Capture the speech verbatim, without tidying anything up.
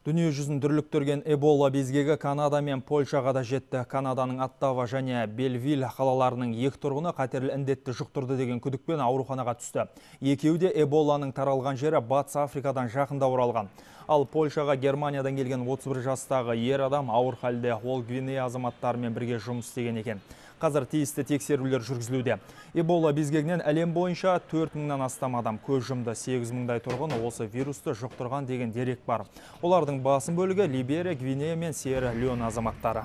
Дүние жүзін дүрліктірген Эбола безгегі Канада мен Польшаға да жетті. Канаданың Оттава және Белвиль қалаларының екі тұрғыны қатерлі індетті жұқтырды деген күдікпен ауруханаға түсті. Екеуі де Эболаның таралған жері Батыс Африкадан жақында оралған. Ал Польшаға Германиядан келген отыз бір жастағы ер адам ауыр халде, ол Гвинея азаматтарымен бірге жұмыс істеген екен. Қазір тиісті тексерулер жүргізілуде. Эбола безгегінен әлем бойынша төрт мыңнан астам адам көз жұмды, сегіз мыңдай тұрғын осы вирусты жұқтырған деген дерек бар. Олардың басым бөлігі Либерия, Гвинея мен Сьерра Леоне азаматтары.